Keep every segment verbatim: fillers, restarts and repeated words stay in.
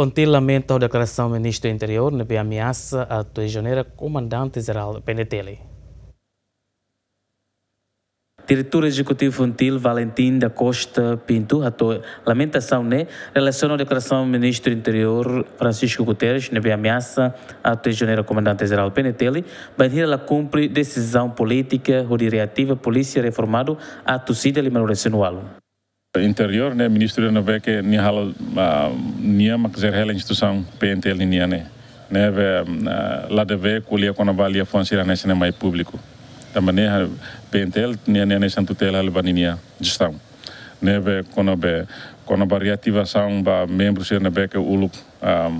FONGTIL lamenta ho deklarasaun Ministru Interiór ne'ebé ameasa atu ezonera Komandante Jerál PNTL. Diretór Ezekutivu FONGTIL, Valentim da Costa Pinto, hato'o lamentasaun ne'e relasiona ho deklarasaun Ministru Interiór Francisco Guterres ne'ebé ameasa atu ezonera Komandante Jerál PNTL, bainhira la kumpre desizaun polítika hodi reativa Polísia Reformadu atus ida lima-nulu-resin-ualu. Interiór ne'e, ministru ne'ebé ke nia halo, ah, nia mak jere hela instituisaun PNTL nian ne'e. Ne'ebé, ah, la debe ko'alia kona-ba liafuan sira hanesan ne'e mai públiku. Tanba ne'e, ah, PNTL nia, nia hanesan tutela halo ba ninia jestaun. Ne'ebé kona-ba, kona-ba reativasaun ba membru sira ne'ebé ke uluk, ah,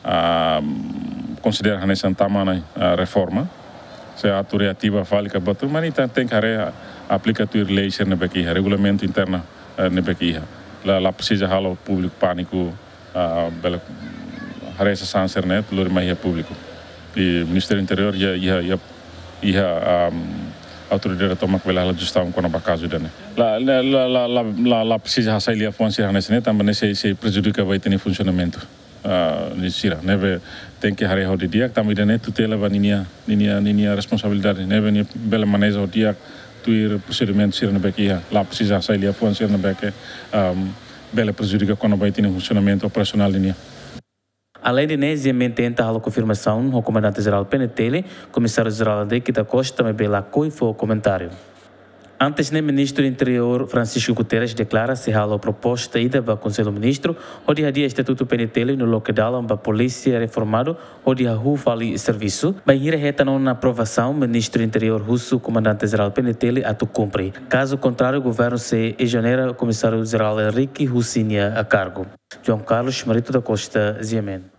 ah, konsidera hanesan tama ona, ah, reforma. Se atu reativa fali ka buat, mas ita tenke haree, aplika tuir lei sira ne'ebé ke iha, regulamentu interna, eh, ne'ebé ke iha. La, la presiza halo públiku pániku, ah, bele haree sasán sira-ne'e lori mai iha públiku. I Ministériu Interiór iha, iha, iha, iha, ah, autoridade tomak bele halo jestaun kona-ba kazu ida-ne'e. La, la, la presiza hasai liafuan sira hanesan ne'e, tanba ne'e sei, sei prejudika ba ita-nia funsionamentu, ah, nia sira. Ne'ebé tenke haree ho didi'ak, tanba ida-ne'e tutela ba ninia, ninia, ninia responsabilidade. Ne'ebé nia bele maneja ho di'ak tuir prosedimentu sira ne'ebé ke iha. La presiza hasai liafuan sira ne'ebé ke, ah, bele prejudika kona-ba ita-nia funsionamentu operasionál nian. Aleinde ne'e, Ziamen tenta halo konfirmasaun ho Komandante Jerál PNTL, Komisáriu Jerál Henrique da Costa, maibé lakohi fó komentáriu. Antes ne'e, Ministru Interiór Francisco Guterres deklara sei halo proposta ida ba Konsellu Ministru hodi hadi'a estatutu PNTL no loke dalan ba Polísia Reformadu hodi hahú fali servisu, bainhira hetan ona aprovasaun, Ministru Interiór husu Komandante Jerál PNTL atu kumpre. Kazu kontráriu, governu sei ezonera Komisáriu Jerál Henrique husi nia kargu. João Carlos Marito da Costa, Ziamen.